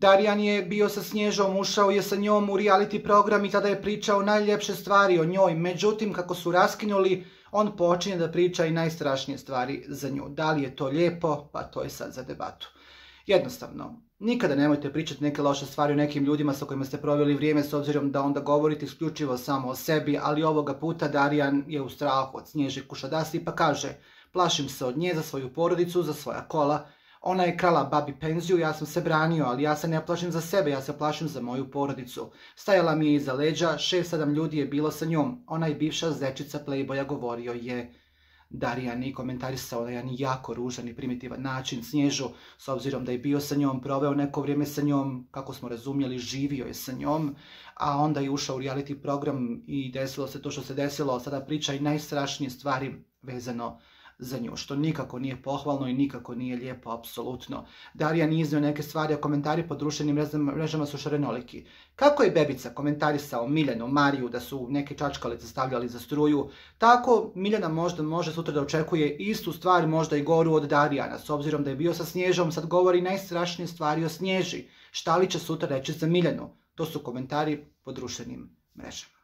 Darijan je bio sa Snježom, ušao je sa njom u reality program i tada je pričao najljepše stvari o njoj. Međutim, kako su raskinuli, on počinje da priča i najstrašnije stvari za nju. Da li je to lijepo? Pa to je sad za debatu. Jednostavno, nikada nemojte pričati neke loše stvari o nekim ljudima sa kojima ste proveli vrijeme, s obzirom da onda govorite isključivo samo o sebi, ali ovoga puta Darijan je u strahu od Snježe Kušadasi pa kaže: plašim se od nje za svoju porodicu, za svoja kola. Ona je krala babi penziju, ja sam se branio, ali ja se ne plašim za sebe, ja se plašim za moju porodicu. Stajala mi je iza leđa, 6-7 ljudi je bilo sa njom. Ona je bivša zečica Playboya, govorio je Darijan i komentarisao na jedan jako ružan i primitivan način Snježu, s obzirom da je bio sa njom, proveo neko vrijeme sa njom, kako smo razumjeli, živio je sa njom, a onda je ušao u reality program i desilo se to što se desilo. Sada priča i najstrašnije stvari vezano za nju, što nikako nije pohvalno i nikako nije lijepo, apsolutno. Darijan je iznio neke stvari, a komentari po društvenim mrežama su šarenoliki. Kako je Bebica komentarisao Miljanu, Mariju da su neke čačkalice stavljali za struju, tako Miljana možda može sutra da očekuje istu stvar, možda i goru od Darijana, s obzirom da je bio sa Snježom, sad govori najstrašnije stvari o Snježi. Šta li će sutra reći za Miljanu? To su komentari po društvenim mrežama.